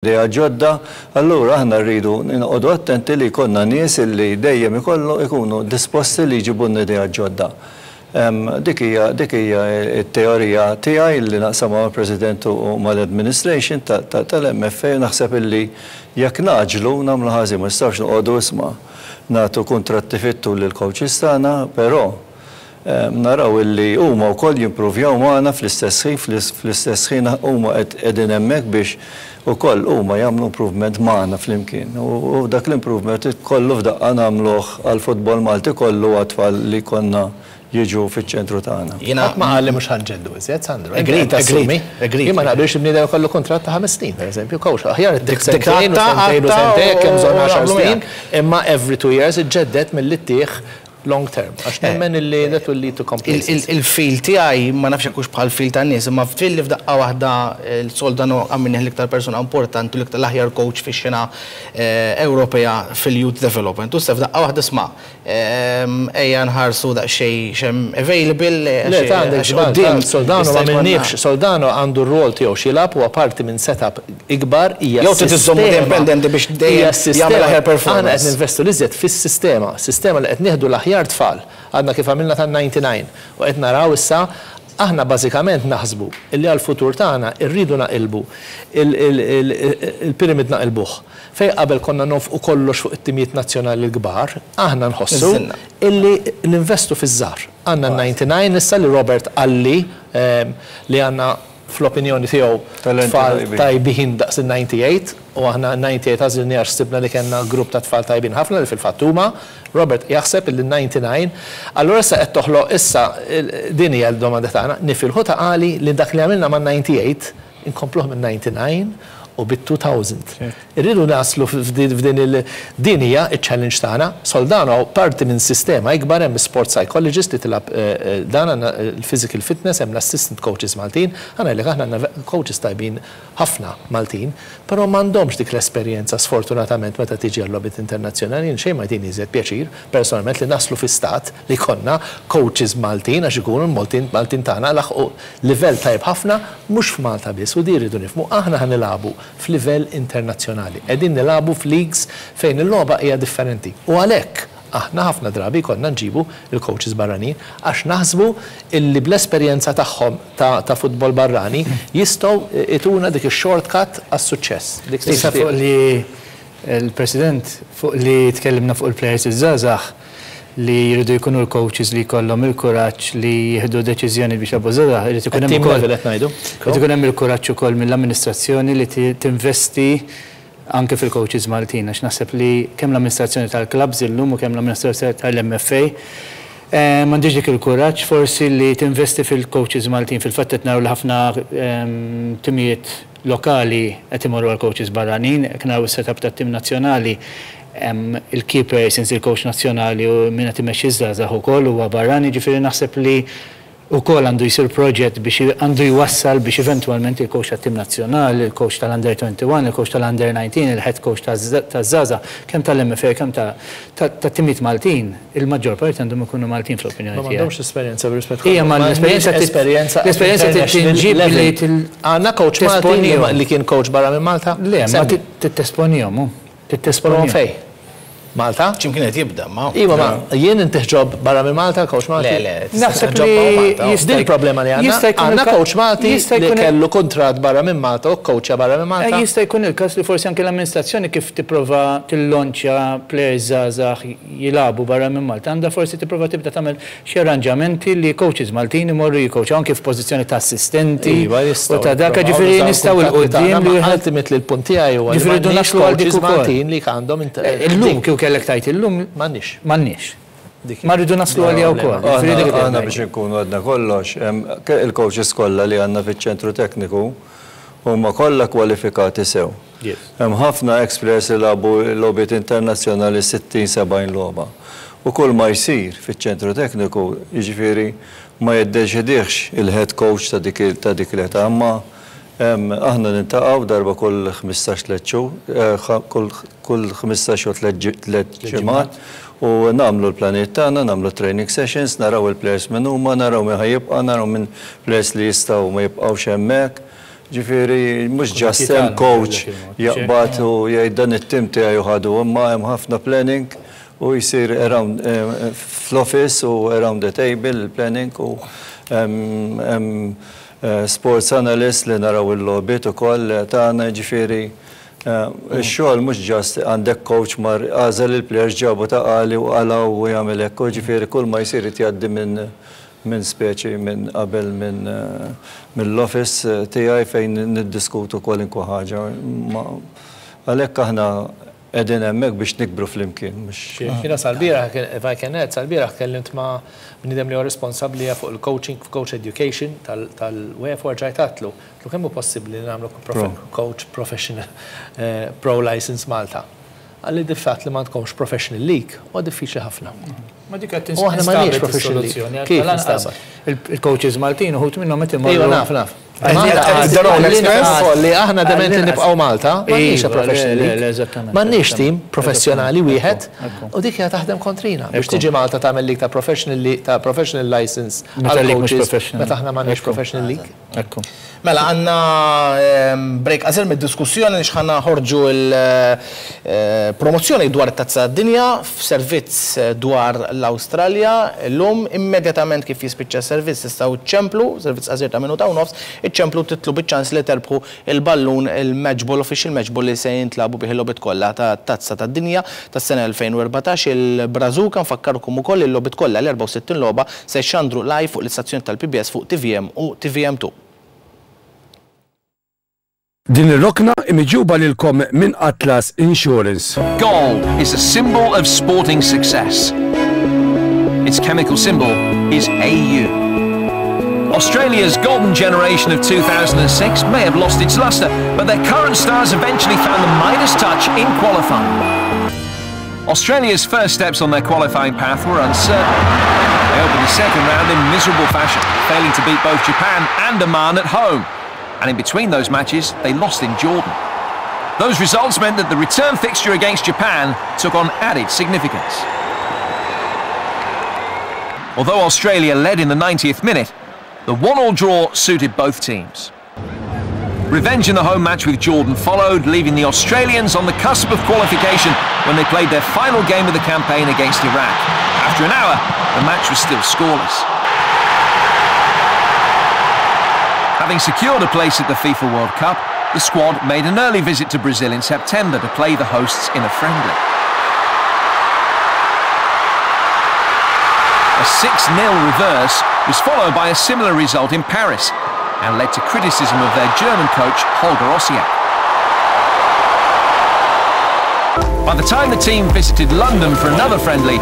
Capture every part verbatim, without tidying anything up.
Idea ġodda, allura aħna rridu noqogħdu attenti li jkollna nies li dejjem ikollu ikunu disposti li jġibu idea ġodda. Dik hija dik hija t-teorija tiegħi li naqsamha mal-President u mal-administration tal-M F A. Naħseb illi jekk ngħaġġlu nagħmlu ħażin. Ma nistgħux noqogħdu, isma', nagħtu kuntratti fit-tul lill-coaches tagħna, però naraw illi huma wkoll jimprovjaw magħna fl-istess ħin, fl-istess ħin huma qegħdin hemmhekk biex ukoll huma jagħmlu improvement magħna flimkien. U dak l-improvement kollu f'daqqa nagħmluh għall-futbol Malti kollu, għat-tfal li konna jiġu fiċ-ċentru tagħna. Jiena ma qalli mhux ħa nġeddu iżjed, Sandro. Agreed, agreed, agreed. Jien ma naqbilx bniedem kollu kuntratt ta' ħames snin, pereżempju, coach. Aħjar dik sentejn u sentejn u sentejn, kemm bżonn għaxar snin, imma every two years iġġedded milli ttih long term. Għax nemmen illi that will lead to complacency. Il-feel tiegħi, ma nafx hux bħal feel tan-nies, imma fil li f'daqqa waħda l-Soldano għamilnieh l-iktar persuna importanti, l-iktar l-aħjar coach fix-xena Ewropea fil-youth development. U f'daqqa waħda, isma', ejja nħarsu daqsxejn x'hemm available. Le, ta' għandek żball, Soldano ma minniex, Soldano għandu r-rol tiegħu x'jilgħab u parti minn setup ikbar hija Jew trid iżommu indipendenti biex dejjem jagħmel aħjar performance. Aħna qed ninvestu l-iżjed fis-sistema, sistema li qed nieħdu l-aħjar tfal. Għadna kif għamilna tan-disgħa u disgħin u qed naraw issa. Aħna bażikament naħsbu illi għal-futur tagħna irridu naqilbu il-pyramid, naqilbuh. Fej qabel konna nonfqu kollox fuq it-timijiet nazzjonali l-kbar, aħna nħossu illi ninvestu fiż-żgħar. Għandna disgħa u disgħin issa li Robert qalli li għandna fl-opinjoni tiegħu tfal tajbin daqs il-disgħa u disgħin, u aħna disgħa u disgħin għażilni għax sibna li kellna grupp ta' tfal tajbin ħafna li fil-fatt huma. Robert jaħseb il disgħa u disgħin, allura issa qed toħloq, issa din hija l-domanda tagħna, nifilħu ta' għali li dak li għamilna ma' disgħa u disgħin inkompluh minn disgħa u disgħin u bit-elfejn. Irridu naslu f'din il din hija il-challenge tagħna. Soldano parti minn sistema ikbar, hemm sport psychologist li tilgħab eh, eh, dan, għandna il-physical fitness, hemm l-assistant coaches Maltin, għandna li aħna għandna coaches tajbin ħafna Maltin, però m'għandhomx dik l-esperjenza, sfortunatament, meta tiġi għal-logħbiet internazzjonali. Xejn ma jtini iżjed pjaċir personalment li naslu fi stat li konna coaches Maltin, għax ikunu l-Maltin Maltin tagħna laħqu livell tajb ħafna, mhux f'Malta biss, u di rridu nifhmu, aħna ħa nilagħbu f'livell internazzjonali. Qegħdin nilagħbu f'leagues fejn il-logħba hija differenti. U għalhekk aħna ħafna drabi konna nġibu il-coaches barranin, għax naħsbu illi bl-esperjenza tagħhom ta', ta futbol barrani jistgħu ituna dik ix-shortcut għas-suċċess. Dik Issa fuq li il-President, fuq li tkellimna fuq il-players iż-żgħażagħ li jridu jkunu l-coaches li jkollhom il-kuraġġ li jieħdu deċiżjoni biex jilagħbu żgħażagħ, irid ikun hemm Team ukoll level qed ngħidu. Irid ikun hemm il-kuraġġ ukoll mill-amministrazzjoni li ti- tinvesti anke fil-coaches Maltin, għax naħseb li kemm l-amministrazzjoni tal-clubs illum u kemm l-amministrazzjoni tal-M F A eh, m'għandix dik il-kuraġġ forsi li tinvesti fil-coaches Maltin. Fil-fatt qed naraw li ħafna ehm, timijiet lokali qed imorru għal coaches barranin, qed naraw is-setup tat-tim nazzjonali, hemm il-keeper since il-coach nazzjonali u min qed imexxi żgħażagħ ukoll huwa barrani, ġifieri naħseb li ukoll għandu jisir proġett biex għandu jwassal biex eventualment il-coach tat-tim nazzjonali, il-coach tal-Under twenty-one, il-coach tal-Under nineteen, il-head coach taż-żgħażagħ, kemm tal-M F A, kemm ta' timijiet Maltin, il-maġġor parti għandhom ikunu Maltin fl-opinjoni Ma tiegħi. m'għandhomx esperjenza b'rispett. Ija, ma l-esperjenza tit- esperjenza l-esperjenza tinġib li til- Għandna coach Malti tesponihom. li kien coach barra minn Malta? Le, ma Semmi. titesponihom, Però titesponihom. Fej? Malta? X'imkien qed jibda, ma. Iva, ma jien intih job barra minn Malta, coach Malti? Le, le, Naħseb job li barra Malta. jista' Din il-problema li għandna. jista' jkun Għandna il-ka- coach Malti jista' li jkun il- kellu kontrat barra minn Malta u coacha barra minn Malta. Eh, Jista' jkun il-każ li forsi anke l-amministrazzjoni kif tipprova tillonċja players żgħażagħ jilagħbu barra minn Malta, għandha forsi tipprova tibda tagħmel xi arranġamenti li coaches Maltin imorru jikcoachaw anke f'pożizzjoni ta' assistenti Iva, jistgħu u ta' dak, jipprovaw ġifieri nużaw nistgħu kuntatti 'l quddiem tagħna, li ma wieħed ultimately l-punt tiegħi huwa li Ġifieri rridu m'għandniex naslu għal dik coaches ukoll. Maltin li għandhom int- Eh, Illum kieku kellek tajt illum M'għandniex. M'għandniex. Dik Ma rridu naslu għalija wkoll. Ġifieri dik Aħna aħna biex inkunu għadna kollox, em, ke- il-coaches kollha li għandna fiċ-ċentru tekniku huma kollha kwalifikati sew. Yes. Hemm ħafna ex-players li lagħbu logħbiet internazzjonali, sittin sebgħin logħba. U kull ma jsir fiċ-ċentru tekniku, jiġifieri, ma jiddeċidihx il-head coach ta' dik ta' dik l-età, imma em, aħna niltaqgħu darba kull ħmistax tliet xhur, eh, ħa- kull kull ħmistax u tliet ġi- tliet ġimgħat u nagħmlu l-pjanijiet tagħna, nagħmlu training sessions, naraw il-players minn huma, naraw min ħa jibqa', naraw minn players li jistgħu ma jibqgħux hemmhekk. Ġifieri mhux just hemm coach jaqbad u jgħid dan it-tim tiegħi ħadu, imma hemm ħafna planning u jsir around fl-office u around the table il-planning u hemm sports analyst li naraw il-logħbiet ukoll tagħna, ġifieri ix-xogħol mhux just għandek coach mar għażel il-players ġabu ta' qali u qala u jagħmel hekk, ġifieri kull ma jsir jgħaddi minn minn speċi minn qabel minn mill-office tiegħi fejn niddiskutu kwalunkwe ħaġa. Għalhekk aħna qegħdin hemmhekk biex nikbru flimkien. Jiena sal-bieraħ, if I can add, sal-bieraħ kellimt ma' bniedem li huwa responsabbli fuq il-coaching, coach education tal-UEFA, rġajt għedtlu. Għedtlu kemm hu possibbli li nagħmlu coach professional pro license Malta. Qalli the fact li m'għandkomx professional league huwa diffiċli ħafna. Ma dik qed tinstab is-soluzzjoni. Kif instabet? Il-coaches Maltin uħud minnhom qed imorru. Ejwa, naf, naf. Li aħna dement li nibqgħu Malta, m'għandniex professional league. M'għandniex tim professjonali wieħed u dik hija taħdem kontrina. Biex tiġi Malta tagħmel league ta' professional ta' professional license għal coaches meta aħna m'għandniex professional league. Ekku. Mela għandna break qasir mid-diskussjoni li ħana ħorġu l-promozzjoni dwar it-Tazza tad-Dinja f'servizz dwar l-Awstralja. Illum immedjatament kif jispiċċa s-servizz tistgħu ċċemplu, servizz qasir ta' minuta u nofs, iċċemplu titlu biċ-ċans li terbħu il-ballun il-matchball, official matchball li se jintlagħbu bih il-logħbiet kollha ta' Tazza tad-Dinja tas-sena elfejn u erbatax. Il-Brażuka nfakkarkom ukoll il-logħbiet kollha l-erbgħa u sittin logħba se jxandru live fuq l-istazzjon tal-P B S fuq T V M u T V M two. Din ir-rokna imiġuba lilkom minn Atlas Insurance. Gold is a symbol of sporting success. Its chemical symbol is A U. Australia's golden generation of two thousand and six may have lost its luster, but their current stars eventually found the Midas touch in qualifying. Australia's first steps on their qualifying path were uncertain. They opened the second round in miserable fashion, failing to beat both Japan and Oman at home. And in between those matches, they lost in Jordan. Those results meant that the return fixture against Japan took on added significance. Although Australia led in the ninetieth minute, the one-all draw suited both teams. Revenge in the home match with Jordan followed, leaving the Australians on the cusp of qualification when they played their final game of the campaign against Iraq. After an hour, the match was still scoreless. Having secured a place at the FIFA World Cup, the squad made an early visit to Brazil in September to play the hosts in a friendly. A six nil reverse was followed by a similar result in Paris and led to criticism of their German coach, Holger Osieck. By the time the team visited London for another friendly,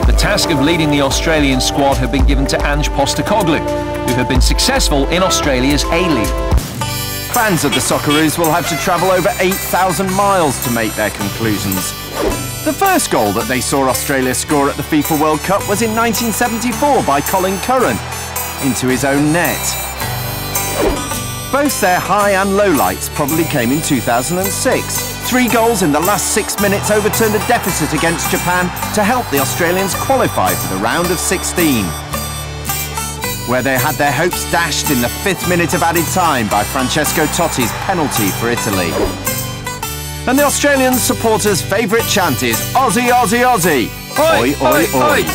the task of leading the Australian squad had been given to Ange Postecoglou, who had been successful in Australia's A-League. Fans of the Socceroos will have to travel over eight thousand miles to make their conclusions. The first goal that they saw Australia score at the FIFA World Cup was in nineteen seventy-four by Colin Curran, into his own net. Both their high and low lights probably came in two thousand and six. Three goals in the last six minutes overturned a deficit against Japan to help the Australians qualify for the round of sixteen, where they had their hopes dashed in the fifth minute of added time by Francesco Totti's penalty for Italy. And the Australian supporters' favourite chant is Aussie, Aussie, Aussie! Oi, oi, oi! oi.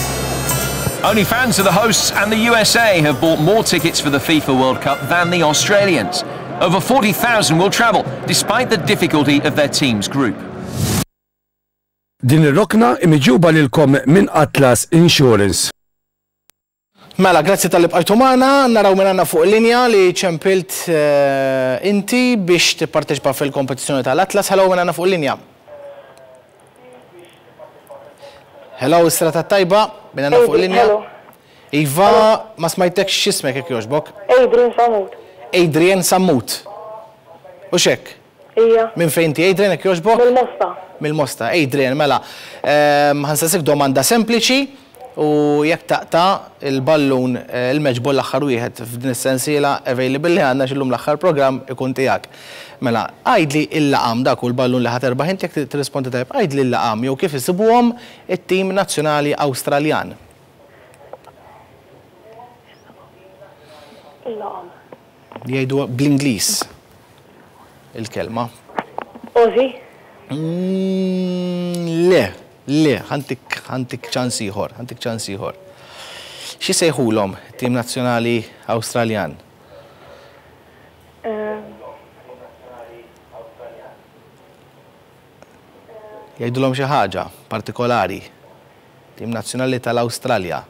Only fans of the hosts and the U S A have bought more tickets for the FIFA World Cup than the Australians. Over forty thousand will travel, despite the difficulty of their team's group. Din ir-rokna imiġuba lilkom minn Atlas Insurance. Mela, grazzi tal-li bqajtu magħna, naraw minn għandna fuq il-linja li ċempilt inti biex tipparteċipa fil-kompetizzjoni tal-Atlas. Hello, minn għandna fuq il-linja. Hello, is-serata tajba, minn għandna fuq il-linja. Iva, ma smajtekx x'ismek jekk jogħġbok? Adrian Sammut. Adrian Sammut. U xek? Ija. Minn fejn ti Adrian jekk jogħġbok? Mill-Mosta. Mill-Mosta. Adrian, mela, ħansaqsik domanda sempliċi u jekk taqta' il-ballun il-matchball l-aħħar wieħed f'din is-sensiela available li għandna x'illum l-aħħar programm ikun tiegħek. Mela, għidli il-laqam dak u l-ballun li ħa terbaħ inti jekk tirrispondi tajjeb, għidli l-laqam jew kif isibuhom it-tim nazzjonali Awstraljan. Il-laqam. Jgħidu bl-Ingliż. il-kelma. Aussie. Mm, Le, le, ħa ntik ħa ntik ċans ieħor, ħa ntik ċans ieħor. Xi sejħulhom tim nazzjonali Awstraljan? Um, Jgħidulhom xi ħaġa partikolari. Tim nazzjonali tal-Awstralja.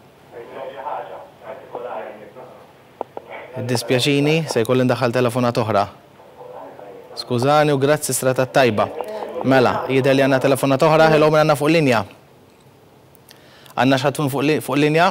Dispjaċini, se jkolli ndaħħal telefonat oħra. Skużani u grazzi strata tajba. Mela, jidher li għandna telefonat oħra, hello min għandna fuq linja. Għandna xi ħadd fuq li- fuq linja?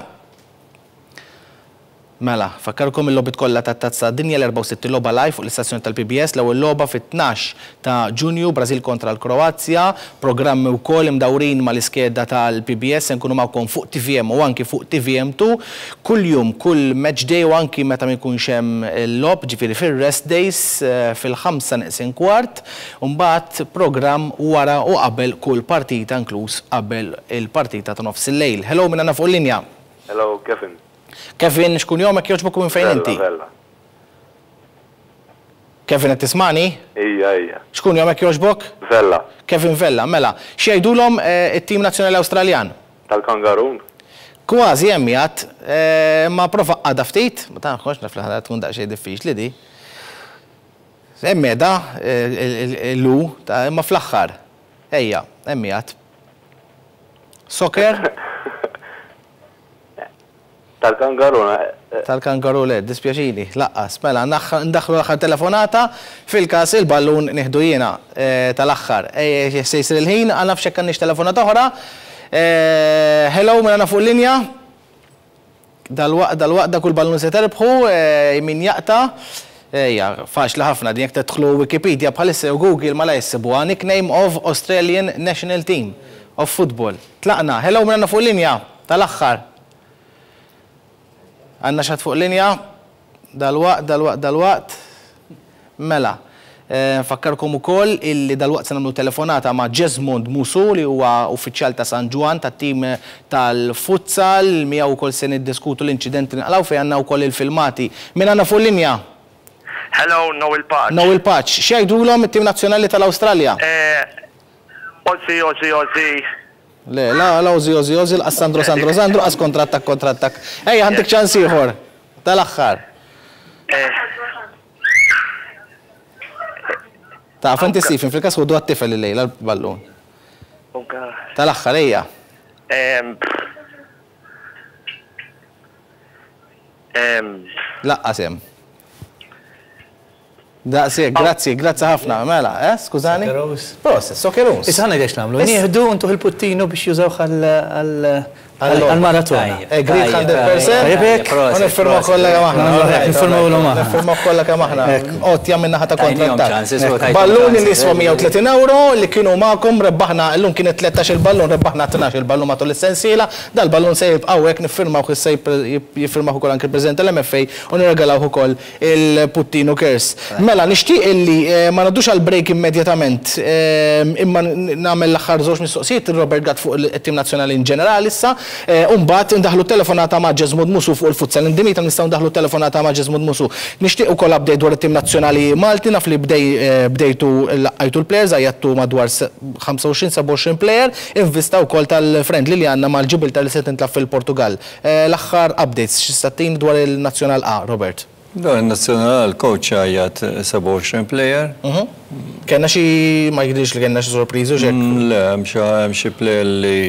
Mela, fakkarkom il-logħbiet kollha tat-Tazza Dinja l-erbgħa u sittin logħba live fuq l-istazzjoni tal-P B S, l-ewwel logħba fit-tnax ta' Ġunju, Brażil kontra l-Kroazja, programmi wkoll imdawrin mal-iskeda tal-P B S, se nkunu magħkom fuq T V M u anki fuq T V M due kull jum, kull match day u anki meta ma jkunx hemm il-logħob, ġifieri fil-rest days eh, fil-ħamsa neqsin kwart, u mbagħad programm wara u qabel kull partita, inkluż qabel il-partita ta' nofs il-lejl. Hello, min għandna fuq linja? Hello, Kevin. Kevin, x'kunjomek jogħġbok u minn fejn inti? Vella. Kevin, qed tismani? Ija, ija. X'kunjomek jogħġbok? Vella. Kevin Vella, mela. X'jgħidulhom eh, it-tim nazzjonali Awstraljan? Tal-Kangarun. Kważi hemm jgħid, eh, ma prova għada ftit, ma tafx naf li ħada tkun daqsxejn diffiċli di. Hemm qiegħda eh, l-u, ta' imma fl-aħħar. Ejja, hemm jgħid. Soccer? Tal-Kangarun. eh, Tal-kangaru le, dispjaċini, laqqas. Mela, naħ- ndaħlu l-aħħar telefonata, fil-kas il-ballun nieħdu jiena eh, tal-aħħar. Eh, Se jsir il-ħin, għal nafx hekk għandniex telefonata oħra. Eh, Hello, min għandna fuq linja? Dal-waqt, dal-waqt, dak il-ballun se terbħu, eh, min jaqta'. Ejja, faċli ħafna, din jekk tedħlu Wikipedia bħalissa u Google ma la jsibuha, nickname of Australian National Team of Football. Tlaqna, hello, min għandna fuq linja? Tal-aħħar. Għandna xi ħadd fuq linja? Dal-waqt, dal-waqt, dal-waqt. Mela, eh, nfakkarkom ukoll illi dal-waqt se nagħmlu telefonata ma' Jesmond Musu li huwa uffiċjal ta' San Ġwann tat-tim tal-futsal, miegħu wkoll se niddiskutu l-inċidenti li nqalgħu fejn għandna wkoll il-filmati. Min għandna fuq linja? Hello, Noel Paċ. Noel Paċ. X'jgħidulhom it-tim nazzjonali tal-Awstralja? Eh, Aussie, Aussie, Aussie. Le, la, la, Aussie, Aussie, Aussie, l Sandro, Sandro, Sandro, qas kontrattak, kontrattak. Ejja, ħa ntik ċans ieħor. Tal-aħħar. Eh, Taf, inti Stephen, fil-kas ħudu għat-tifel il-lejla l-ballun. Oh God. Tal-aħħar, ejja. Um, um, Laqqas hemm. Daqsik, grazzi, grazzi ħafna. Mela, eh, skużani? Socceroos. Proset, Socceroos. Issa ħana għax nagħmlu. Nieħdu ntuh il-puttinu biex jużawh għal-maratona. Agreed mija fil-mija. Tajjeb hekk? U niffirmaw kollha kemm aħna. Niffirmaw l aħna. Niffirmaw kollha kemm aħna. Għotja minn naħa ta' Tajnihom kontrattak. chances, u tajthom Balluni li chances. jiswa mija u tletin euro li kienu magħkom, rebbaħna llum kienet tlettax il-ballun, rebbaħna tnax il-ballun matul is-sensiela, dal-ballun se jibqgħu hekk, niffirmaw se jiffirmaw ukoll anke il-President tal-M F A u nirregalaw ukoll il-Puttinu Cares. Mela, nixtieq illi eh, ma ngħaddux għal break immedjatament, eh, imma nagħmel l-aħħar żewġ mistoqsijiet Robert Gatt fuq il-tim nazzjonali in ġenerali issa, eh, u mbagħad ndaħlu telefonata ma' Jesmond Musu fuq il-futsal. Indimita nistgħu ndaħlu telefonata ma' Jesmond Musu. Nixtieq ukoll update dwar it-tim nazzjonali Malti, naf li bdej eh, bdejtu laqajtu l-players, għajjattu madwar ħamsa u għoxrin sebgħa u għoxrin player, in vista wkoll tal-friendly li għandna mal-Ġibilta li se tintlagħab fil-Portugal. Eh, L-aħħar updates x'tista' ttina dwar il-Nazzjonal A, Robert? Dwar il-nazzjonal, coach għajjat sebgħa u għoxrin player. Kenna xi, ma jidhirx li kenna xi sorpriżi u xek. Mm, Le, hemm xi hemm xi player li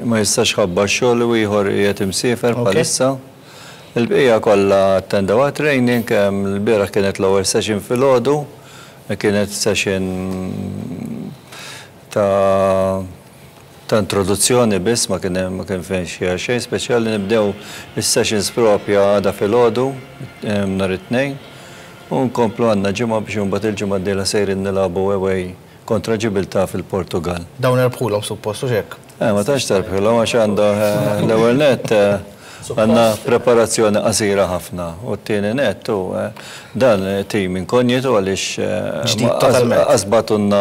ma jistax ħabba x-xogħol u ieħor qiegħed imsiefer Ok. bħalissa. Il-bqija kollha attendew training, hemm l-bieraħ kienet l-ewwel session filgħodu, kienet session ta' ta' introduzzjoni biss, ma kien hemm ma kien fejn xi xejn speċjali. Nibdew is-sessions propja għada filgħodu em, nhar it-Tnejn u nkomplu għandna ġimgħa biex imbagħad il-ġimgħa d-dieħla sejrin nilagħbu away kontra Ġibilta fil-Portugal. Dawn erbħulhom suppost u xek. Eh, ma tantx terbħilhom għax għandha eh, l-ewwel net eh, għandna preparazzjoni qasira ħafna u t-tieni net u eh, dan tim inkonjitu għaliex eh, Ġdid ma- totalment. Qas bagħtulna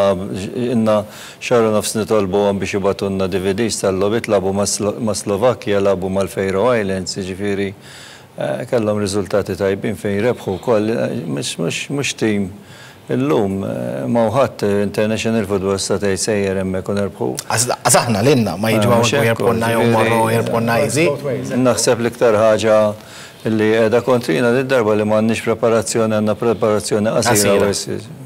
ilna xahar u nofs nitolbuhom biex jibagħtulna D V Ds tal-logħbiet. Lagħbu ma' Slo- ma' Slovakkja, lagħbu mal-Faroe Islands, jiġifieri eh, kellhom riżultati tajbin fejn rebħu wkoll, eh, mhux mhux mhux tim Illum ma ħadd international football sta tgħid sejjer hemmhekk u nerbħu. Għax aħna lilna ma jiġu hawn jirbħulna jew marru jirbħulna easy. Naħseb l-iktar ħaġa li qiegħda kontrina darba li m'għandniex preparazzjoni, għandna preparazzjoni qasira.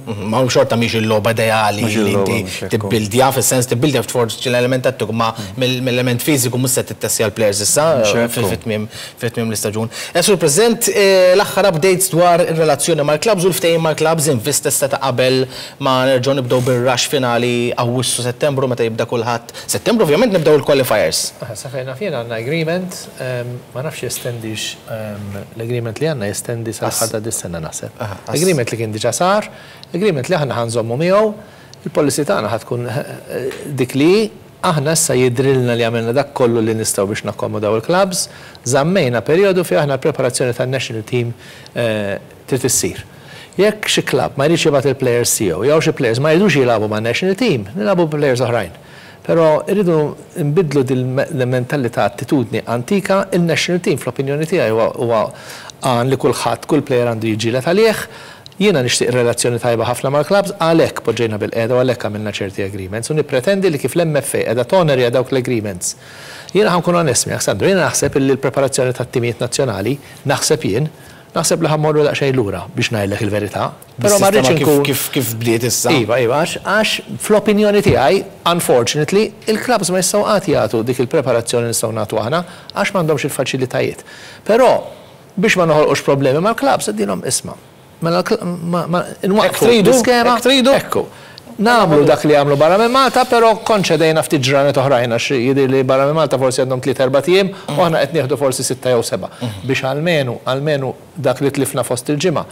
Ma hu xorta mhix il-logħba ideali li inti tibbildja, fis-sens tibbildja forsi l-element tattiku, ma mill-element fiżiku mhux se tittessja l-players issa fit-tmiem fit-tmiem l-istaġun. Sur President, l-aħħar updates dwar ir-relazzjoni mal-clubs u l-ftehim mal-clubs in vista ta' qabel ma nerġgħu nibdew bir-rush finali Awwissu, Settembru, meta jibda kulħadd. Settembru ovvjament nibdew il-qualifiers. Sa fejn naf jien għandna agreement, ma nafx jestendix l-agreement li għandna, jestendi sa dis-sena naħseb. Agreement li kien diġà sar, agreement li aħna ħa nżommu miegħu, il-policy tagħna ħa tkun dik li aħna issa jidrilna li għamilna dak kollu li nistgħu biex nakkomodaw il-clubs, żammejna perjodu fi aħna preparazzjoni tan-national team trid issir. Jekk xi club ma jridx jibgħat il-players tiegħu, jew xi players ma jridux jilagħbu ma' national team, nilagħbu players oħrajn. Però irridu nbidlu dil-mentalità, attitudni antika. Il-national team fl-opinjoni tiegħi huwa għan li kulħadd, kull player għandu jiġġieled għalih. Jiena nixtieq relazzjoni tajba ħafna mal-clubs, għalhekk poġġejna bil-qiegħda u għalhekk għamilna ċerti agreements u nippretendi li kif l-M F A qiegħda tonorja dawk l-agreements. Jiena ħa nkun onest miegħek, Sandro, jiena naħseb li l-preparazzjoni tat-timijiet nazzjonali, naħseb jien, naħseb li ħa mmorru daqsxejn lura biex ngħidlek il-verità. Però ma rridx inkun kif kif bdiet issa. Iva, iva, għax għax fl-opinjoni tiegħi, unfortunately, il-clubs ma jistgħu qatt jagħtu dik il-preparazzjoni nistgħu nagħtu aħna għax m'għandhomx il-faċilitajiet. Però biex ma noħolqux problemi mal-clubs, għednielhom, isma'. Mela nwaqfu l-iskema. Tridu. Ekku. Nagħmlu dak li għamlu barra minn Malta, però konċedejna ftit ġranet oħrajn għax jidher li barra minn Malta forsi għandhom tliet erbat ijiem u aħna qed nieħdu forsi sitta jew seba' biex almenu almenu dak li tlifna fost il-ġimgħa.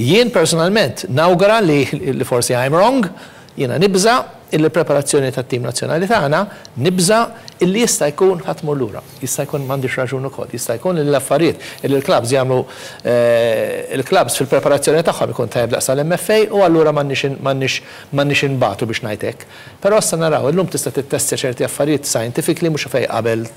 Jien personalment nawgura li, li forsi I'm wrong, jiena nibża illi preparazzjoni tat-tim nazzjonali tagħna, nibża illi jista' jkun ħa tmur lura. Jista' jkun m'għandix raġun ukoll, jista' jkun li l-affarijiet illi l-clubs jagħmlu, il-clubs fil-preparazzjoni tagħhom ikun tajjeb daqs l-M F A u allura m'għandniex m'għandniex m'għandniex inbatu biex ngħidlek. Però issa naraw, illum tista' tittestja ċerti affarijiet scientifically, mhux fejn qabel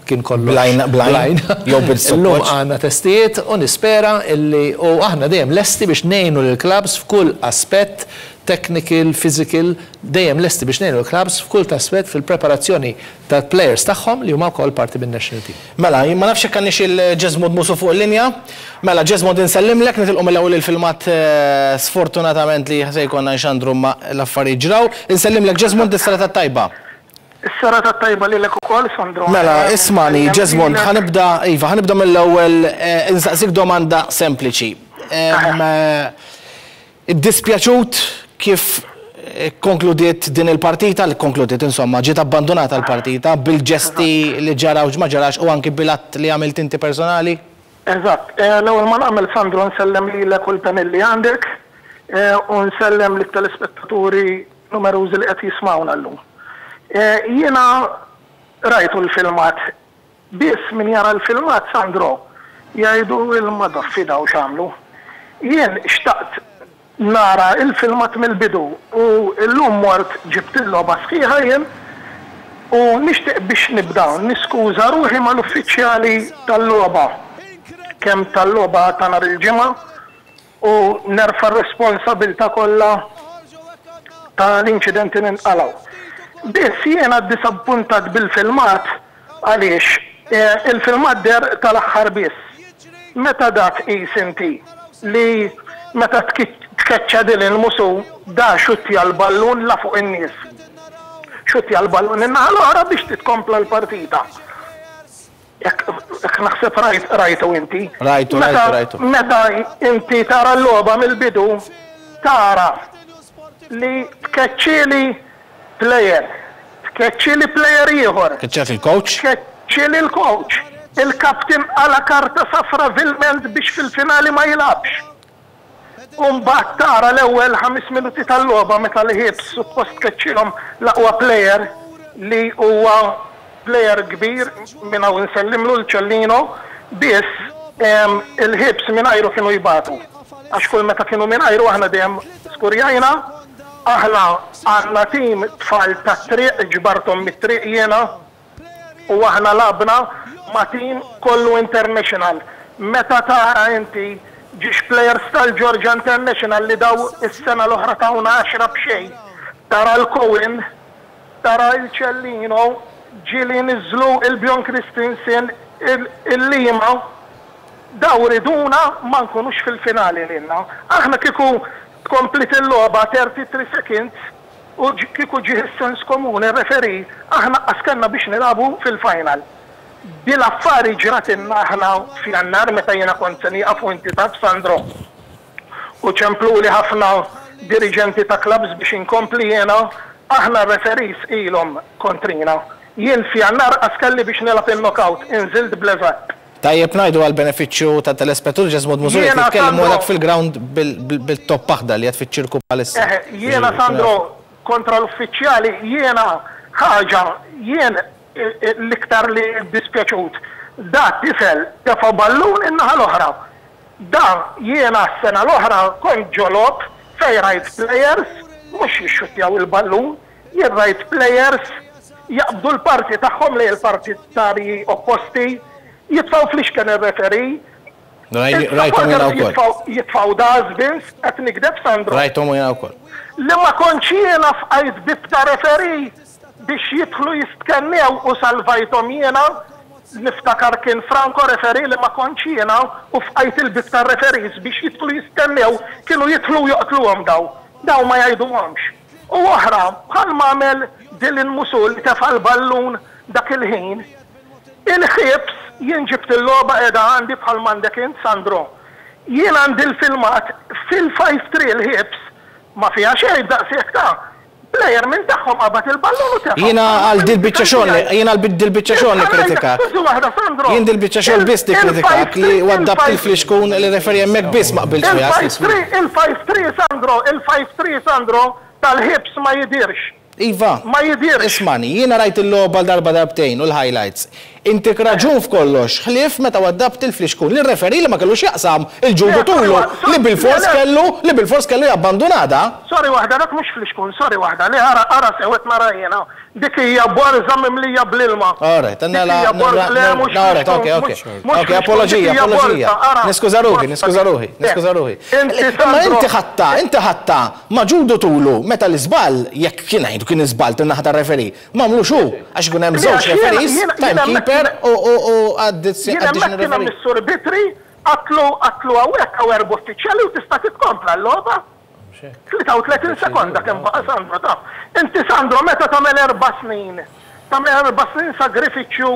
kien kollox Blind, blind, jew Illum għandna testijiet u nispera illi u aħna dejjem lesti biex ngħinu lill-clubs f'kull aspett technical, physical, dejjem lesti biex ngħinu l-clubs f'kull aspett fil-preparazzjoni tal-players tagħhom li huma wkoll parti bin national team. Mela, ma nafx jekk għandniex il-Jesmond Musu fuq il-linja. Mela, Jesmond, insellimlek, nitilqu mill-ewwel il-filmat sfortunatament li se jkollna nxandru ma l-affarijiet ġraw. Insellimlek, Jesmond, is-serata tajba. Is-serata tajba lilek ukoll, Sandro. Mela, ismani, Jesmond, ħa nibda, iva, ħa nibda mill-ewwel insaqsik domanda sempliċi. Iddispjaċut kif konkludiet din il-partita, li konkludiet insomma, ġiet abbandonata l-partita bil-ġesti li ġara u ma ġarax u anki bil-att li għamilt inti personali? Eżatt. L-ewwel ma nagħmel, Sandro, nsellem lilek u l-panel li għandek u nsellem lit-telespettaturi numerużi li qed jismawna llum. Jiena rajtu l-filmat. Biss min jara l-filmat, Sandro, jgħidu il-madaffi daw x'għamlu. Jien xtaqt nara il-filmat mill-bidu u llum mort ġibt il-logħba sħiħa jien u nixtieq biex nibda niskuża ruħi mal-uffiċjali tal-logħba, kemm tal-logħba ta' nhar il-Ġimgħa, u nerfa' r-responsabilità kollha tal-inċidenti li nqalgħu. Biss jiena ddisappuntat bil-filmat għaliex il-filmat deher tal-aħħar biss. Meta dak qis inti li meta tkeċċa din il-Musu da xuttja l-ballun la fuq in-nies. Xuttja l-ballun in-naħa l-oħra biex titkompla l-partita. Jekk naħseb rajt rajtu inti. Rajtu, rajtu, rajtu. Meta inti tara l-logħba mill-bidu, tara li tkeċċili player, tkeċċili player ieħor. Keċċat il-coach? Tkeċċili l-coach. Il-kaptin għala karta safra vilment biex fil-finali ma jilgħabx. U mbagħad tara l-ewwel ħames minuti tal-logħba meta li Hibs suppost tkeċċilhom l-aqwa player li huwa player kbir, minn hawn nsellimlu l-Ċellino, biss il-Hibs mingħajru kienu jbatu. Għax kull meta kienu mingħajru aħna dejjem skurjajna, aħna għandna tim tfal tat-triq, ġbarthom mit-triq jiena, u aħna lgħabna ma' tim kollu international. Meta tara inti Ġiex players tal-Georgia International li daw is-sena l-oħra tawna għaxra b'xejn. Tara l-Cohen, tara il-Cellino, ġieli niżlu il-Bjorn Christensen, il-Lima, daw riduna ma nkunux fil-finali lilna. Aħna kieku tkomplit il-logħba thirty-three seconds u kieku ġie s-sens komuni referee, aħna qas biex nilagħbu fil-final. Dil-affari ġratilna aħna f'Jannar meta jiena kont se nieqaf u inti taf, Sandro. U ċemplu li ħafna dirigenti ta' clubs biex inkompli jiena, aħna referees ilhom kontrina. Jien f'Jannar qas kelli biex nilgħab il-knockout, inżilt bl-eżatt. Tajjeb ngħidu għal benefiċċju ta' telespettaturi Jesmond Mużuri Jiena, jitkellmu Sandro- dak fil-ground bil-top aħdar li qed fiċ-ċirku bħalissa. Eh, jiena Sandro, kontra l-uffiċjali, jiena ħaġa, jien eh, eh, l-iktar li dispjaċut. Da tifel tefa ballun in-naħa l-oħra. Da jiena s-sena l-oħra kont ġo logħob fej rajt players, mhux jixxuttjaw il-ballun, jien rajt players jaqbdu l-parti tagħhom li l-partitari opposti, jitfaw flixken ir-referee, Rajthom jiena wkoll. jitfaw- jitfaw dustbins, qed nikdeb, Sandro? Rajthom jiena wkoll. Li ma kontx jiena fqajt bib ta' referee biex jidħlu jistkennew u salvajthom jiena, niftakar kien Franco referee li ma kontx jiena u fqajt il-bib ta' referees biex jidħlu jistennew, kienu jidħlu joqtluhom daw. Daw ma jgħiduhomx. U oħra, bħal ma għamel Dylan Musul li tefa' l-ballun dak il-ħin, il-Hibs jien ġibt il-logħba qiegħda għandi bħal m'għandek int, Sandro. Jien għandi l-filmat fil-five three il-Hibs ma fiha xejn daqshekk ta' player minn tagħhom qabad il-ballun u tefa'. Jiena għal dil-biċċa xogħol, jiena għal dil-biċċa xogħol nikkritikak. Skużi waħda, Sandro. Jien dil-biċċa xogħol biss nikkritikak li waddabt il-flixkun li referee hemmhekk biss ma qbiltx miegħek. Il-five three, il-five three Sandro, il-five three Sandro tal-Hibs ma jidirx. Iva. Ma jidirx. Ismani, jiena rajt il-logħba l-darba darbtejn u l-highlights. Intik raġun f'kollox, ħlief meta waddabt il-flixkun li referee li ma kellux jaqsam il-ġudu Le, tulu sorry, li bil-fors le, le. kellu li bil-fors kellu jabbandunada. Sorry waħda, dak mhux flixkun, sorry waħda, li ara ara sewet nara jiena. Dik hija borza mimlija bl-ilma. Alright, għanna la. Dik hija borza, le, mhux Alright, flixkun, ok, ok. mhux- mhux Ok, flixkun, apologija, dik hija apologija. borza, ara. Niskuża ruħi, Borza. niskuża ruħi, niskuża ruħi. Inti, Imma Sandro, inti ħatta, inti ħatta, ma ġudu tulu, meta l-iżball, jekk kien għajdu kien iżball tin-naħa tar-referee, ma għamlux hu, għax ikun hemm Le, żewġ għax jiena- referees, jiena- jiena timekeeper u u u Jien hemmhekk additional kien hemm referee. is-sur Bitri, għatlu għatlu hawnhekk hawn erba' uffiċjali u tista' titkompla l-logħba. tlieta u tletin sekonda kemm baqa', Sandro ta'. Inti Sandro meta tagħmel erba' snin, tagħmel erba' snin sagrifiċċju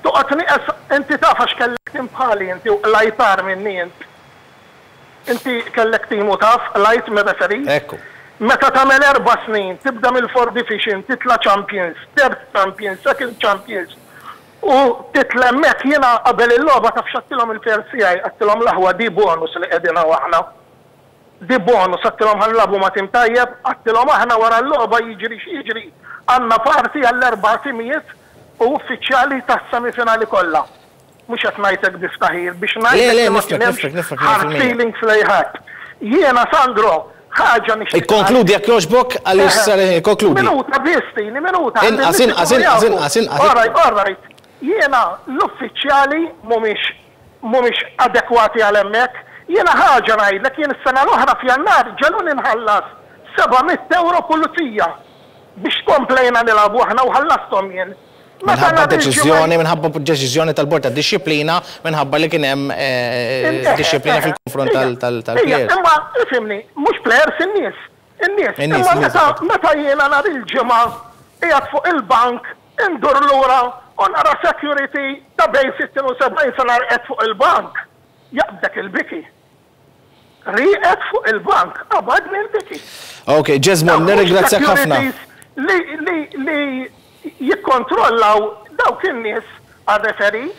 toqgħod nieqes, inti taf għax kellek tim bħali inti u lajtar minni int. Inti kellek tim u taf lajt mir-referee. Ekku. Meta tagħmel erba' snin, tibda mill-Fourth Division, titla' Champions, Third Champions, Second Champions. U titla' hemmhekk jiena qabel il-logħba taf x'għedtilhom il-players tiegħi, għedtilhom l-aħwa di bonus li qegħdin hawn aħna. Di bonus għedtilhom ħa nilagħbu ma' tim tajjeb, għedtilhom aħna wara l-logħba jiġri x'jiġri. Għandna parti għall-erba' timijiet u uffiċjali tas-semifinali kollha. Mhux qed ngħidlek biftaħir biex ngħidlek Le, le, li ma nifhmek, kien hemmx nifhmek, nifhmek, hard mija fil-mija. feelings lejħat. Jiena Sandro, ħaġa nixtieq. Ikkonkludi jekk jogħġbok għaliex sar konkludi. Minuta biss tini, minuta. Inqas, inqas, inqas, inqas, inqas. All right, all right. Jiena l-uffiċjali mhumiex mhumiex adekwati għal hemmhekk. Jiena ħaġa ngħidlek, jien is-sena l-oħra f'Jannar ġeluni nħallas seba' mitt euro pulizija biex komplejna nilagħbu aħna u ħallasthom jien. Meta Minħabba nhar il-ġimgħa- deċiżjoni, minħabba deċiżjoni tal-bord ta' dixxiplina, minħabba li kien hemm eh, dixxiplina fil-konfront tal- tal- Ija, tal-players. Imma, ifhimni, mhux players, in-nies. In-nies. In-nies, Imma in-nies, meta meta jiena nhar il-ġimgħa qiegħed fuq il-bank indur lura u nara security ta' bejn sittin u sebgħin sena qed fuq il-bank. Jaqbdek il-biki. Rieqed fuq il-bank, qabadni l-biki. Ok, Jesmond, nirringrazzjak ħafna. Securities Li, li, li jikkontrollaw dawk in-nies għal-referee.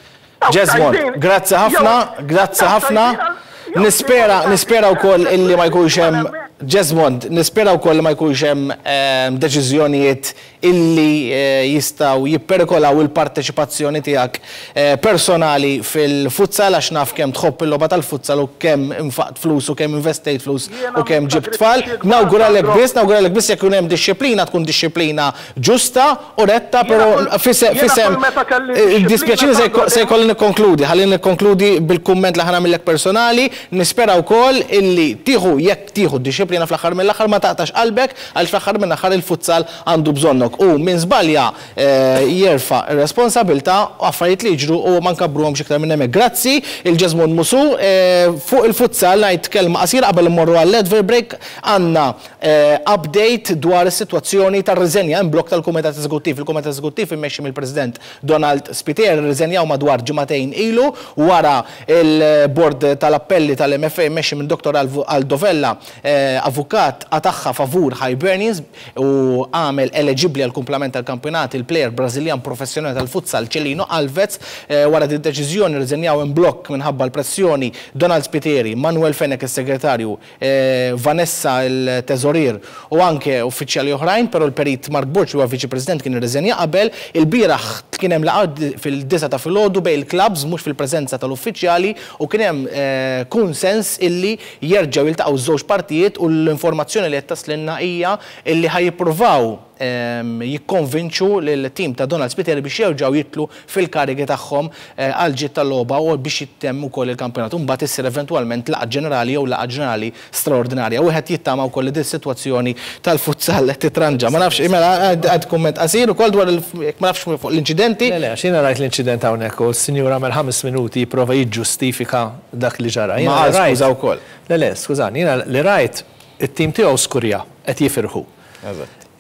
Dawk Jesmond, tajbin. grazzi ħafna, Jew- grazzi dawk ħafna. tajbin għal- jew Nispera, nispera wkoll illi ma jkunx hemm Għal hemmhekk. Jesmond, nispera wkoll li ma jkunx hemm ehm, deċiżjonijiet illi eh, jistgħu jipperikolaw il-parteċipazzjoni tiegħek eh, personali fil-futsal għax naf kemm tħobb il-logħba tal-futsal u kemm infaqt flus u kemm investejt flus Jiena u kemm ġibt tfal. sagrifiċċji kbar, Nawguralek Sandro. biss, nawguralek biss jekk ikun hemm dixxiplina tkun dixxiplina ġusta u retta, Jiena però kull- fisem jiena fisem kull meta kelli eh, dixxiplina, dispjaċini se Sandro, se jkolli nikkonkludi, ħalli nikkonkludi bil-kumment li ħa nagħmillek personali, Nispera wkoll illi tieħu jekk tieħu dixxiplina fl-aħħar mill-aħħar ma taqtax qalbek għaliex fl-aħħar mill-aħħar il-futsal għandu bżonnok u min żbalja jerfa' r-responsabilità u affarijiet li jiġru u ma nkabbruhomx iktar minn hemmhekk. Grazzi lil Jesmond Musu. Fuq il-futsal ngħid kelma qasira qabel immorru għall-advert break. Għandna update dwar is-sitwazzjoni tar-riżenja in blok tal-Kumitat Eżekuttiv. Il-Kumitat Eżekuttiv immexxi mill-President Donald Spiteri rriżenjaw madwar ġimagħtejn ilu wara il-Bord tal-Appelli tal-M F A immexxi minn Dottor Aldo Vella, avukat, qatagħha favur Hibernians u għamel eleġibbli għal kumplament tal-kampjonat il-plejer Brażiljan professjonali tal-futsal Celino Alves. Wara din deċiżjoni rriżenjaw in blok minħabba l-pressjoni Donald Spiteri, Manuel Fenech is-segretarju, Vanessa il-teżorier u anke uffiċjali oħrajn, però l-perit Mark Borg li huwa viċi president kien irriżenja qabel. Il-bieraħ kien hemm laqgħa fil-disgħa ta' filgħodu bejn il-clubs mhux fil-preżenza tal-uffiċjali u kien hemm kunsens illi jerġgħu jiltaqgħu żewġ partijiet u l-informazzjoni li qed taslinna hija illi ħa jippruvaw jikkonvinċu lill-tim ta' Donald Spiteri biex jerġgħu jidħlu fil-karigi tagħhom għal ġid tal-logħba u biex jittemm ukoll il-kampjonat. U mbagħad issir eventwalment laqgħa ġenerali jew laqgħa ġenerali straordinarja. Wieħed jittama wkoll li din is-sitwazzjoni tal-futsal titranġa. Ma nafx, mela għad kumment qasir ukoll dwar ma nafx fuq l-inċidenti. Le, le, għax jiena rajt l-inċident hawnhekk u s-sinjur għamel ħames minuti jipprova jiġġustifika dak li ġara. Ma skuża wkoll. Le, le, skużani, jiena li rajt it-tim tiegħu skurja qed jifirħu.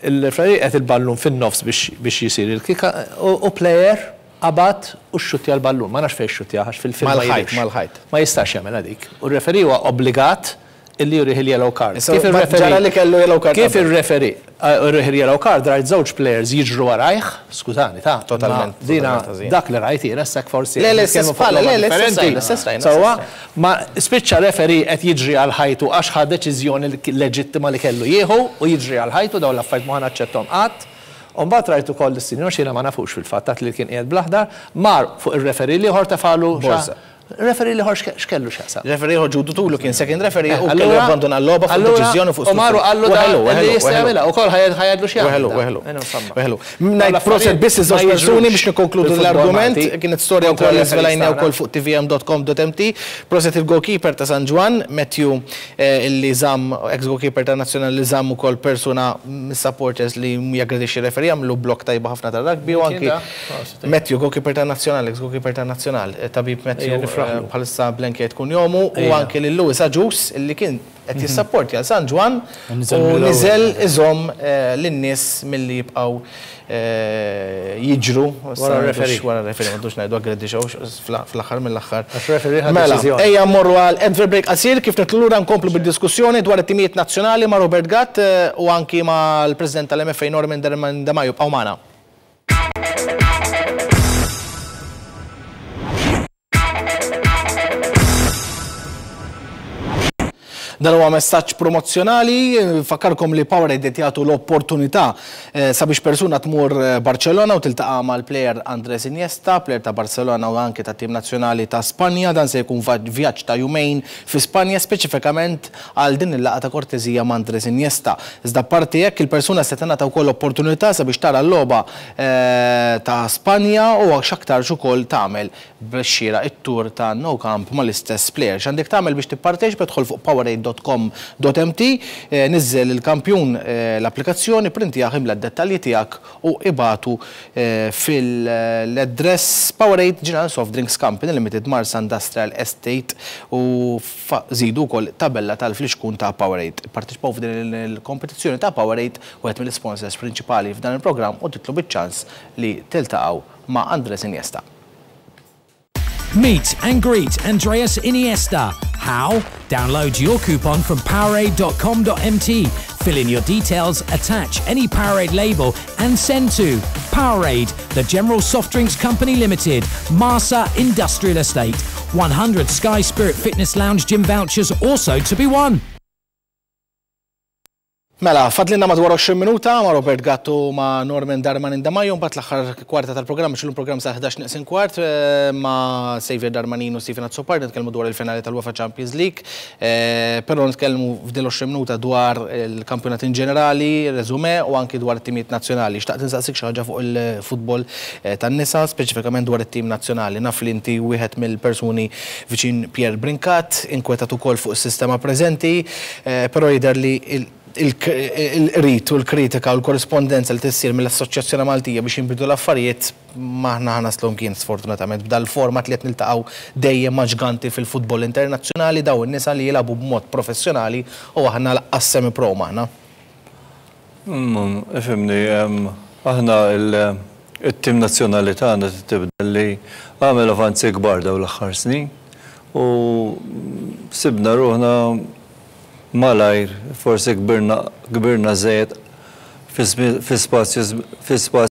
Il-referee qed il-ballun fin-nofs biex jisir il-kika u player qabad u xxuttja l-ballun. Ma nafx fejn xxuttja għax fil-film ma Mal-ħajt, mal-ħajt. Ma jistax jagħmel dik. U r-referee huwa obbligat illi jurih il-yellow card. Kif il-referee ġara li kellu yellow card. Kif il-referee jurih il-yellow card, rajt żewġ players jiġru warajh, skużani ta'. Totalment. Dina dak li rajt jiena sak forsi. Le, le, le, le, le, Sewwa, ma spiċċa referee qed jiġri għal ħajtu għax ħa deċiżjoni leġittima li kellu jieħu u jiġri għal ħajtu. Dawn l-affarijiet ma naċċetthom qatt. U mbagħad rajtu koll is-sinjor xina ma nafux fil-fatt li kien qiegħed bl-aħdar, mar fuq ir-referee l-ieħor tefalu. Referee l-ieħor x'kellu x'jaqsam? Referee ieħor ġudu tulu kien second referee u kellu abbandona l-logħba fuq deċiżjoni fuq. U maru qallu da li jista' jagħmilha ukoll ħa jgħidlu x'jagħmel. Weħlu, weħlu. Weħlu. Ngħid proset biss iż-żewġ persuni biex nikkonkludu l-argument, kienet storja wkoll li żvelajna wkoll fuq T V M dot com dot M T. Proset il-goalkeeper ta' San Ġwann, Matthew, illi żamm, ex-goalkeeper ta' nazzjonali, li żamm ukoll persuna mis-supporters li jaggredixxi referee, għamlu blok tajba ħafna ta' rugby u anki Matthew, goalkeeper ta' nazzjonali, ex-goalkeeper ta' nazzjonal, tabib Matthew, bħalissa blenkiet kun jomu, u anke lil Louis Agius illi kien qed jissapporti għal San Ġwann u niżel iżomm lin-nies milli jibqgħu jiġru wara referee. Wara referee, ma dux ngħidu aggredixxew fl-aħħar mill-aħħar. Mela, ejja mmorru għal advert break qasir. Kif nitilqu lura nkomplu bid-diskussjoni dwar it-timijiet nazzjonali ma' Robert Gatt u anki mal-President tal-M F A Norman Demajo. Bqgħu magħna. Dan huwa messaġġ promozzjonali, fakkarkom li Powerade qed jagħtu l-opportunità sabiex persuna tmur Barcellona u tiltaqa' mal-plejer Andres Iniesta, plejer ta' Barcelona u anke ta' tim nazzjonali ta' Spanja. Dan se jkun vjaġġ ta' jumejn fi Spanja speċifikament għal din il-laqgħa ta' kortesija ma' Andres Iniesta. Iżda parti hekk, il-persuna se tingħata wkoll opportunità sabiex tara l-logħba ta' Spanja u x'aktarx ukoll tagħmel b'xira it-tur ta' Nou Camp mal-istess player. X'għandek tagħmel biex tipparteċipa? Tidħol fuq powerade dot com dot M T, niżżel il-kampjun l-applikazzjoni, printjah, imla d-dettalji tiegħek u ibagħtu fil-address Powerade, General Soft Drinks Company Limited, Marsa Industrial Estate, u żidu wkoll tabella tal-flixkun ta' Powerade. Parteċipaw f'din il-kompetizzjoni ta' Powerade, wieħed mill-sponsors prinċipali f'dan il-programm, u titlu biċ-ċans li tiltaqgħu ma' Andres Iniesta. Meet and greet Andreas Iniesta. How? Download your coupon from powerade dot com dot M T. Fill in your details, attach any Powerade label and send to Powerade, the General Soft Drinks Company Limited, Marsa Industrial Estate. one hundred Sky Spirit Fitness Lounge gym vouchers also to be won. Mela, fadlilna madwar għoxrin minuta ma' Robert Gattu, ma' Norman Darmanin Demajo, mbagħad l-aħħar kwarta tal-programm, xillu programm sa' ħdax neqsin kwart, eh, ma' Xavier Darmanin u Stephen Azzopardi nitkellmu dwar il-finali tal-UEFA Champions League, eh, però nitkellmu f'dil għoxrin minuta dwar il-kampjonat in ġenerali, resume u anki dwar it-timijiet nazzjonali. Xtaqt insaqsik xi ħaġa fuq il-futbol eh, tan-nisa, speċifikament dwar it-tim nazzjonali. Naf li inti wieħed mill-persuni viċin Pierre Brincat, inkwetat ukoll fuq is-sistema preżenti, però jidher li il-rit u l-kritika u l-korrispondenza li tissir mill-Assoċjazzjoni Maltija biex jinbidu l-affarijiet m'aħna ħa naslu mkien, sfortunatament, b'dal-format li qed niltaqgħu dejjem ma' ġganti fil-futbol internazzjonali, daw in-nisa li jilagħbu b'mod professjonali, u aħna lanqas semi pro m'aħna. Mm, ifhimni, aħna il-tim nazzjonali tagħna tibda li għamel avanzi kbar daw l-aħħar snin u sibna ruħna malajr, forsi kbirna kbirna żejjed fi spazju fi spazju